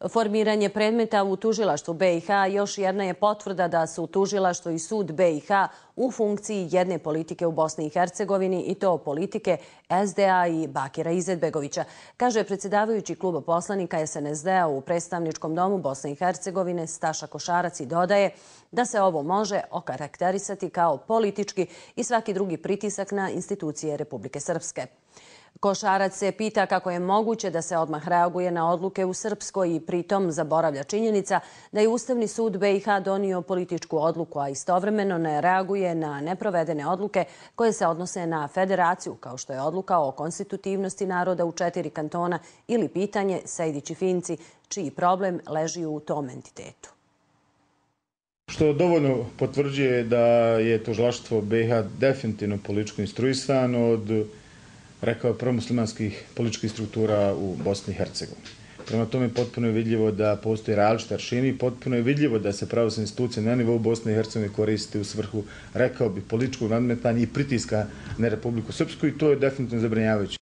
Formiranje predmeta u tužilaštvu BiH još jedna je potvrda da su tužilaštvo i sud BiH u funkciji jedne politike u Bosni i Hercegovini i to politike SDA i Bakira Izetbegovića, kaže predsjedavajući kluba poslanika SNSD-a u predstavničkom domu Bosne i Hercegovine Staša Košarac i dodaje da se ovo može okarakterisati kao politički i svaki drugi pritisak na institucije Republike Srpske. Košarac se pita kako je moguće da se odmah reaguje na odluke u Srpskoj i pritom zaboravlja činjenica da je Ustavni sud BiH donio političku odluku, a istovremeno ne reaguje na neprovedene odluke koje se odnose na federaciju, kao što je odluka o konstitutivnosti naroda u 4 kantona ili pitanje Sejdić i Finci, čiji problem leži u tom entitetu. Što dovoljno potvrđuje da je tužilaštvo BiH definitivno političko instruisano od, rekao, promuslimanskih političkih struktura u Bosni i Hercegovini. Prema tome potpuno je vidljivo da postoji različiti aršini, potpuno je vidljivo da se pravosudne institucije na nivou Bosne i Hercegovine koriste u svrhu, rekao bi, političkog nadmetanja i pritiska na Republiku Srpsku i to je definitivno zabrinjavajuće.